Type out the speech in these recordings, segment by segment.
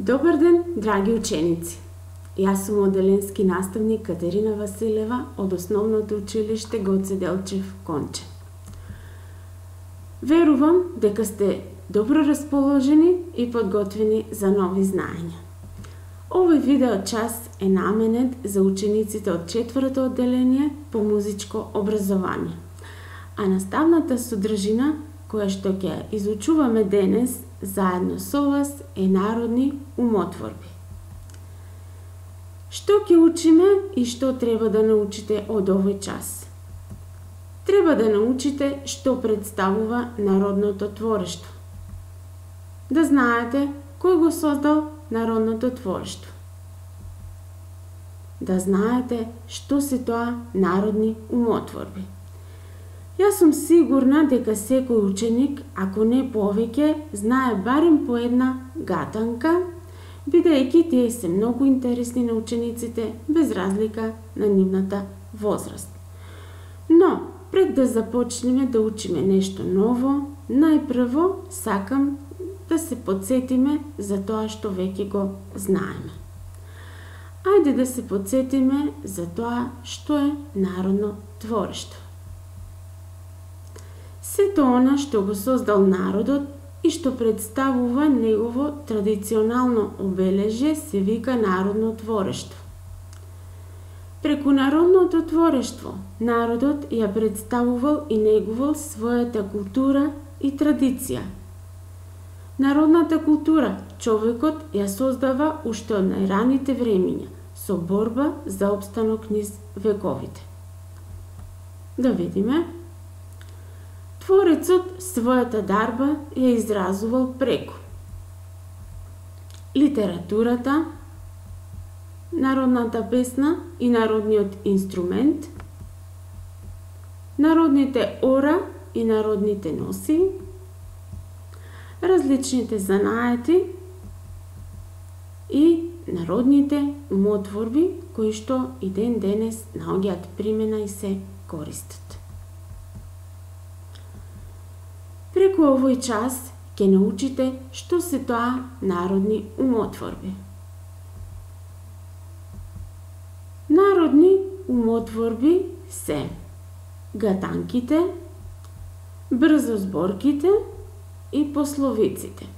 Добар ден, драги ученици! Јас сум оделенски наставник Катерина Василева од Основното училиште Гоце Делчев Конче. Верувам дека сте добро расположени и подготвени за нови знаења. Овој видео час е наменет за учениците од 4-то одделение по музичко образование. А наставната содржина која што ќе изучуваме денес заедно со вас е народни умотворби. Што ќе учиме и што треба да научите од овој час? Треба да научите што представува народното творештво. Да знаете кој го создал народното творештво. Да знаете што се тоа народни умотворби. Јас сум сигурна дека секој ученик, ако не повеќе, знае барем по една гатанка, бидејќи тие се многу интересни на учениците без разлика на нивната возраст. Но, пред да започнеме да учиме нешто ново, најпрво сакам да се подсетиме за тоа што веќе го знаеме. Ајде да се подсетиме за тоа што е народно творештво. Сето она што го создал народот и што представува негово традиционално обележје се вика народно творештво. Преку народното творештво, народот ја представувал и негувал својата култура и традиција. Народната култура човекот ја создава уште од најраните времиња, со борба за опстанок низ вековите. Да видиме. Творецот својата дарба ја изразувал преку литературата, народната песна и народниот инструмент, народните ора и народните носи, различните занаети и народните умотворби кои што и ден денес наоѓаат примена и се користат. Преку овој час ќе научите што се тоа народни умотворби. Народни умотворби се гатанките, брзозборките и пословиците.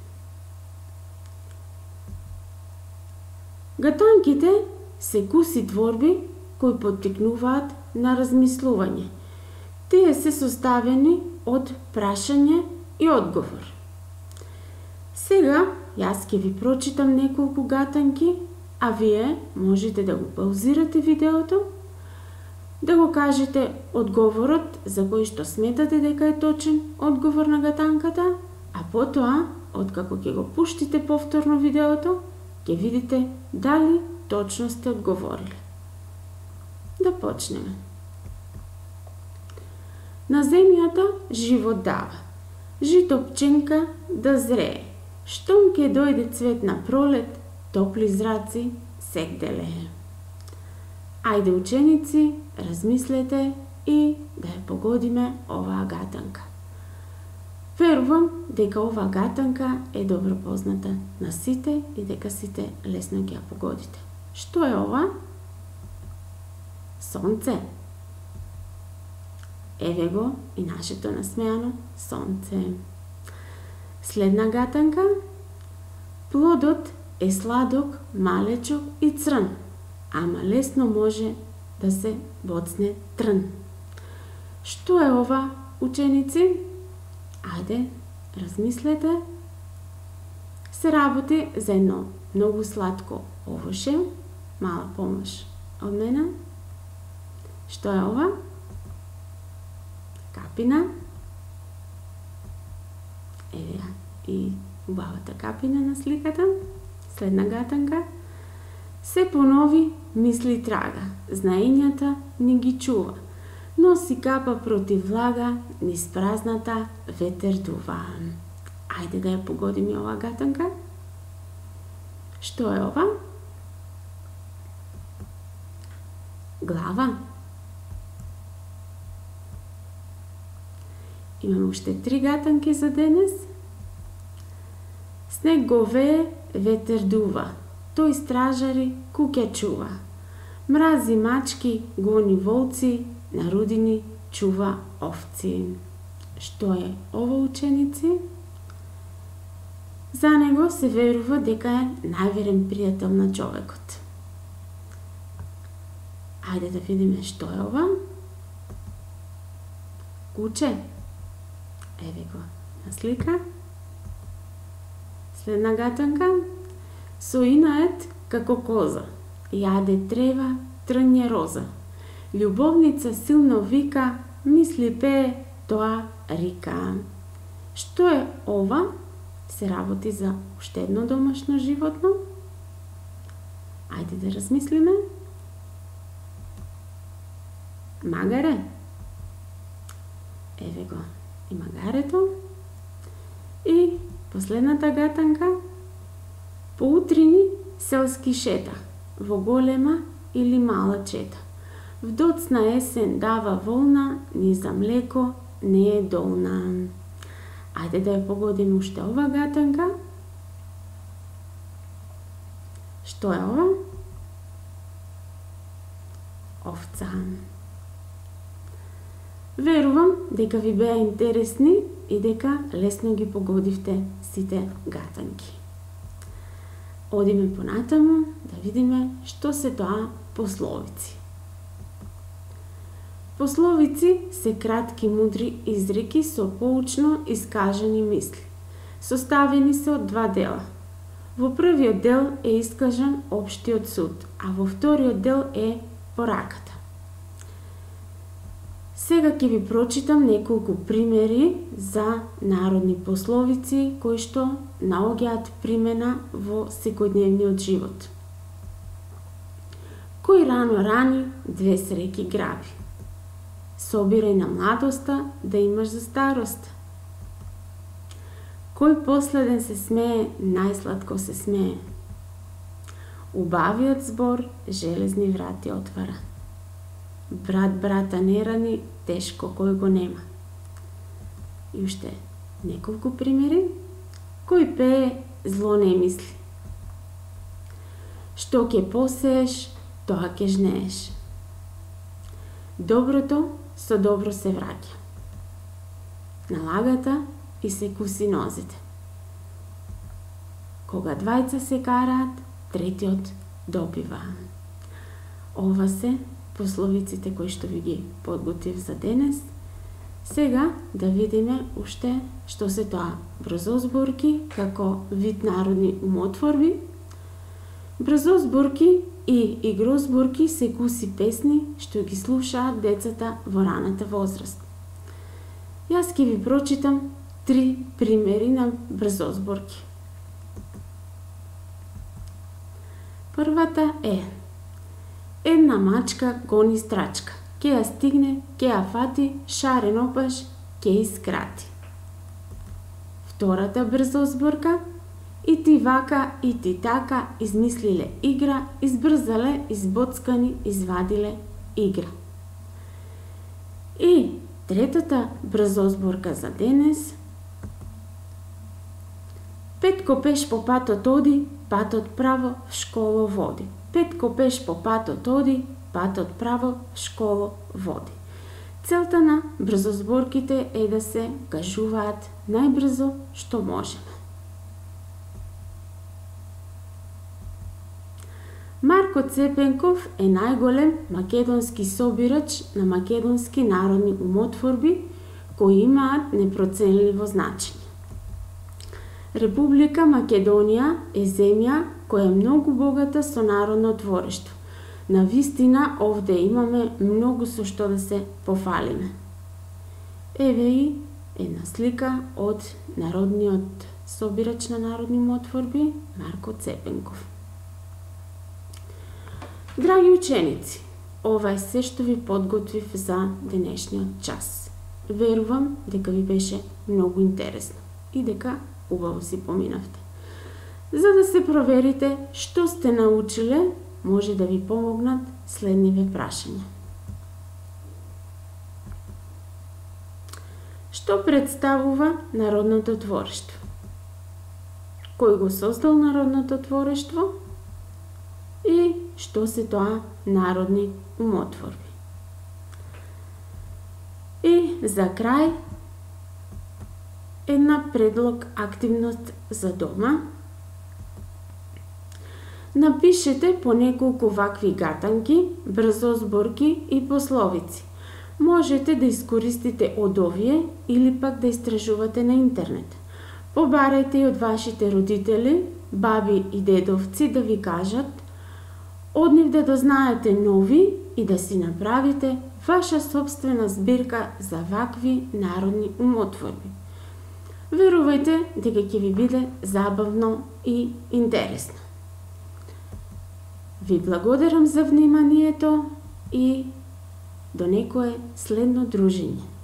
Гатанките се куси творби кои поттикнуваат на размислување. Тие се составени од прашање и одговор. Сега, јас ќе ви прочитам неколку гатанки, а вие можете да го паузирате видеото, да го кажете одговорот за кој што сметате дека е точен одговор на гатанката, а потоа, откако ќе го пуштите повторно видеото, ќе видите дали точно сте одговорили. Да почнеме. На земјата живот дава, жито пченка да зрее, штом ке дојде цвет на пролет, топли зраци сек делее. Ајде ученици, размислете и да ја погодиме оваа гатанка. Верувам дека оваа гатанка е добро позната на сите и дека сите лесно ќе ја погодите. Што е ова? Сонце. Еве го и нашето насмеано сонце. Следна гатанка. Плодот е сладок, малечок и црн, ама лесно може да се боцне трн. Што е ова, ученици? Ајде, размислете. Се работи за едно многу сладко овоше. Мала помош од мене. Што е ова? Капина. Еве и убавата капина на сликата. Следна гатанка. Се понови мисли трага, знаењата ни ги чува, но си капа против влага, низ празната ветер дува. Ајде да ја погодиме оваа гатанка. Што е ова? Глава. Имаме уште 3 гатанки за денес. Снег го вее, ветер дува, тој стражари куќа чува. Мрази мачки, гони волци, на рудини чува овци. Што е ова, ученици? За него се верува дека е најверен пријател на човекот. Ајде да видиме што е ова. Куче. Еве го на слика. Следна гатанка. Со инает како коза. Јаде трева, трнје роза. Љубовница силно вика, мисли пее, тоа рика. Што е ова? Се работи за уште едно домашно животно? Ајде да размислиме. Магаре. Еве го и магарето. И последната гатанка. Поутрини селски шета, во голема или мала чета. В доцна есен дава волна, ни за млеко не е долна. Ајде да ја погодиме уште ова гатанка. Што е ова? Овца. Верувам дека ви беа интересни и дека лесно ги погодивте сите гатанки. Одиме понатаму да видиме што се тоа пословици. Пословици се кратки мудри изреки со поучно искажани мисли. Составени се од два дела. Во првиот дел е искажан општиот суд, а во вториот дел е пораката. Сега ќе ви прочитам неколку примери за народни пословици кои што наоѓаат примена во секојдневниот живот. Кој рано рани, две среќи граби. Собирај на младоста да имаш за старост. Кој последен се смее, најсладко се смее. Убавиот збор железни врати отвара. Брат брата не рани, тешко кој го нема. И уште неколку примери. Кој пее, зло не мисли. Што ќе посееш, тоа ќе жнееш. Доброто со добро се враќа. На лагата и се куси нозите. Кога двајца се караат, третиот добива. Ова се пословиците кои што ви ги подготвив за денес. Сега да видиме уште што се тоа брзозборки како вид народни умотворби. Брзозборки и игрозборки се куси песни што ги слушаат децата во раната возраст. Јас ќе ви прочитам 3 примери на брзозборки. Првата е: една мачка гони страчка. Ке ја стигне, ке ја фати, шарен опаш, ке ја скрати. Втората брзозборка: и ти вака, и ти така, измислиле игра, избрзале, избоцкани, извадиле игра. И третата брзозборка за денес: Петко пеш по патот оди, патот право в школо води. Петко пеш по патот оди, патот право в школо води. Целта на брзозборките е да се кажуваат најбрзо што можеме. Марко Цепенков е најголем македонски собирач на македонски народни умотворби кои имаат непроценливо значење. Република Македонија е земја која е многу богата со народно творештво. Навистина овде имаме многу со што да се пофалиме. Еве и една слика од народниот собирач на народни умотворби Марко Цепенков. Драги ученици, ова е се што ви подготвив за денешниот час. Верувам дека ви беше многу интересно и дека убаво си поминавте. За да се проверите што сте научиле, може да ви помогнат следниве прашања. Што представува народното творештво? кој го создал народното творештво и што се тоа народни умотворби. И за крај, една предлог активност за дома. Напишете по неколку вакви гатанки, брзозборки и пословици. Можете да искористите од овие или пак да истражувате на интернет. Побарајте и од вашите родители, баби и дедовци да ви кажат, од нив да дознаете нови и да си направите ваша собствена збирка за вакви народни умотворби. Верувајте дека ќе ви биде забавно и интересно. Ви благодарам за вниманието и до некое следно дружење.